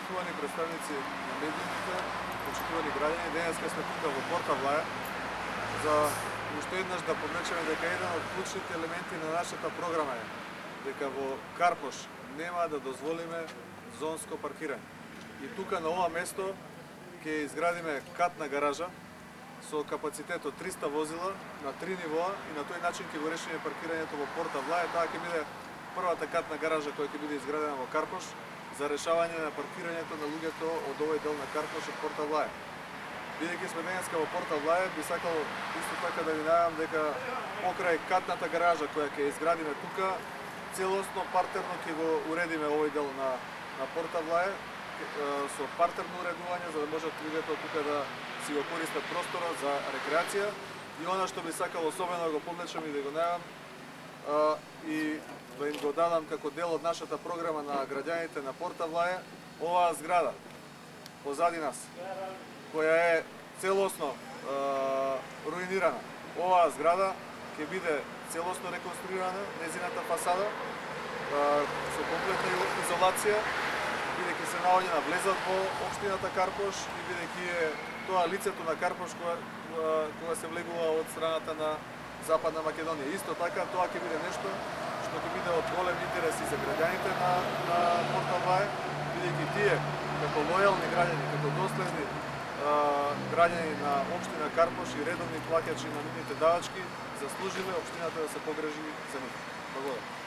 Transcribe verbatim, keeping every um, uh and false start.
почитувани представници на медиумите, почитувани граѓани, денеска сме тука во Порта Влаја за уште еднаш да подмечеме дека еден од клучните елементи на нашата програма е дека во Карпош нема да дозволиме зонско паркирање. И тука на ова место ќе изградиме катна гаража со капацитет од триста возила на три нивоа и на тој начин ќе го решиме паркирањето во Порта Влаја. Таа ќе биде првата катна гаража која ќе биде изградена во Карпош за решавање на паркирањето на луѓето од овој дел на Карпош од Порта Влаја. Бидејќи сме денеска во Порта Влаја, би сакал исто така да ви најавам дека покрај катната гаража која ќе изградиме тука, целосно партерно ќе го уредиме овој дел на на Порта Влаја со партерно уредување за да можат луѓето тука да си го користат просторот за рекреација. И она што би сакал особено да го подмечам и да го најавам и да им го дадам како дел од нашата програма на граѓаните на Порта Влаја, оваа зграда позади нас, која е целосно е, руинирана. Оваа зграда ќе биде целосно реконструирана, незината фасада, е, со комплетна изолација, бидејќи се наоѓа на влезот во општината Карпош и бидејќи е тоа лицето на Карпош кога, кога се влегува од страната на Западна Македонија. Исто така, тоа ќе биде нешто што ќе биде од голем интерес и за граѓаните на, на Порта Влаја, бидејќи тие, како лојални граѓани, како доследни а, граѓани на општина Карпош и редовни плаќачи на нивните давачки, заслужиле општината да се погрижи за нив. Благодарам.